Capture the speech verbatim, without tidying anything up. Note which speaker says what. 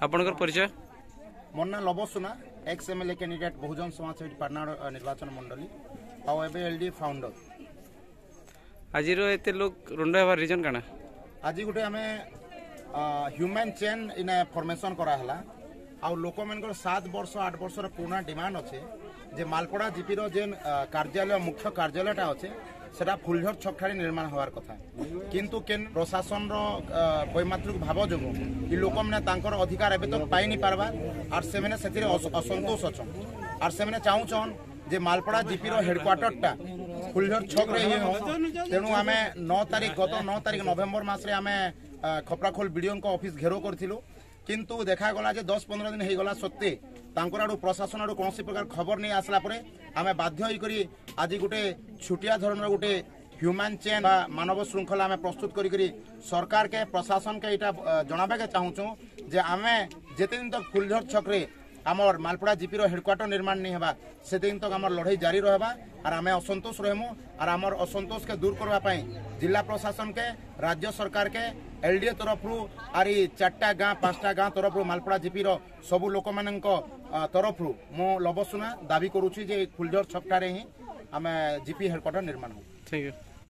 Speaker 1: ଆପଣଙ୍କର ପରିଚୟ?
Speaker 2: ମୋର ନାଁ ଲବ ସୁନା, X MLA candidate, Bahujan Samaj ସେବୀ, ପାଟଣାଗଡ଼ ନିର୍ବାଚନ ମଣ୍ଡଳୀ, ଆଉ ଏବେ ଏଲ୍ ଡି ଫାଉଣ୍ଡର।
Speaker 1: ଆଜିର ଏତେ ଲୋକ ରୁଣ୍ଡ ହେବାର ରିଜନ୍ କାଣା?
Speaker 2: ଆଜି ଗୋଟେ ଆମେ ହ୍ୟୁମାନ୍ ଚେନ୍ ଇନେ ଫର୍ମେସନ୍ କରାହେଲା, ଆଉ ଲୋକମାନଙ୍କର ସାତ ବର୍ଷ ଆଠ ବର୍ଷର ପୁରୁଣା ଡିମାଣ୍ଡ ଅଛେ ଯେ ମାଲପଡ଼ା ଜିପିର ଯେନ୍ କାର୍ଯ୍ୟାଳୟ, ମୁଖ୍ୟ କାର୍ଯ୍ୟାଳୟଟା ଅଛେ, ସେଟା ଫୁଲଝର ଛକଠାରେ ନିର୍ମାଣ ହେବାର କଥା। କିନ୍ତୁ କେନ୍ ପ୍ରଶାସନର ବୈମାତୃକ ଭାବ ଯୋଗୁଁ ଇ ଲୋକମାନେ ତାଙ୍କର ଅଧିକାର ଏବେ ତକ ପାଇନି ପାରବା, ଆର୍ ସେମାନେ ସେଥିରେ ଅସନ୍ତୋଷ ଅଛନ୍। ଆର୍ ସେମାନେ ଚାହୁଁଛନ୍ ଯେ ମାଲପଡ଼ା ଜିପିର ହେଡକ୍ୱାର୍ଟରଟା ଫୁଲଝର ଛକରେ ହିଁ ହଉ। ତେଣୁ ଆମେ ନଅ ତାରିଖ, ଗତ ନଅ ତାରିଖ ନଭେମ୍ବର ମାସରେ ଆମେ ଖପ୍ରାଖୋଲ ବିଡ଼ିଓଙ୍କ ଅଫିସ ଘେରାଉ କରିଥିଲୁ। କିନ୍ତୁ ଦେଖାଗଲା ଯେ ଦଶ ପନ୍ଦର ଦିନ ହେଇଗଲା ସତ୍ତ୍ୱେ ତାଙ୍କର ଆଡ଼ୁ, ପ୍ରଶାସନ ଆଡ଼ୁ କୌଣସି ପ୍ରକାର ଖବର ନେଇ ଆସିଲା ପରେ ଆମେ ବାଧ୍ୟ ହେଇକରି ଆଜି ଗୋଟେ ଛୋଟିଆ ଧରଣର ଗୋଟେ ହ୍ୟୁମାନ୍ ଚେନ୍ ବା ମାନବ ଶୃଙ୍ଖଳା ଆମେ ପ୍ରସ୍ତୁତ କରିକରି ସରକାରକେ, ପ୍ରଶାସନକେ ଏଇଟା ଜଣାବାକେ ଚାହୁଁଛୁ ଯେ ଆମେ ଯେତେ ଦିନ ତକ ଫୁଲଝର ଛକରେ ଆମର ମାଲପଡ଼ା ଜିପିର ହେଡକ୍ୱାର୍ଟର ନିର୍ମାଣ ନେଇ ହେବା, ସେଦିନ ତକ ଆମର ଲଢ଼େଇ ଜାରି ରହିବା, ଆର୍ ଆମେ ଅସନ୍ତୋଷ ରହିମୁ। ଆର୍ ଆମର ଅସନ୍ତୋଷକେ ଦୂର କରିବା ପାଇଁ ଜିଲ୍ଲା ପ୍ରଶାସନକେ, ରାଜ୍ୟ ସରକାରକେ ଏଲଡିଏ ତରଫରୁ, ଆର୍ ଇ ଚାରିଟା ଗାଁ ପାଞ୍ଚଟା ଗାଁ ତରଫରୁ, ମାଲପଡ଼ା ଜିପିର ସବୁ ଲୋକମାନଙ୍କ ତରଫରୁ ମୁଁ ଲବ ସୁନା ଦାବି କରୁଛି ଯେ ଫୁଲଝର ଛକଠାରେ ହିଁ ଆମେ ଜିପି ହେଡକ୍ୱାର୍ଟର ନିର୍ମାଣ ହଉ।
Speaker 1: Thank you.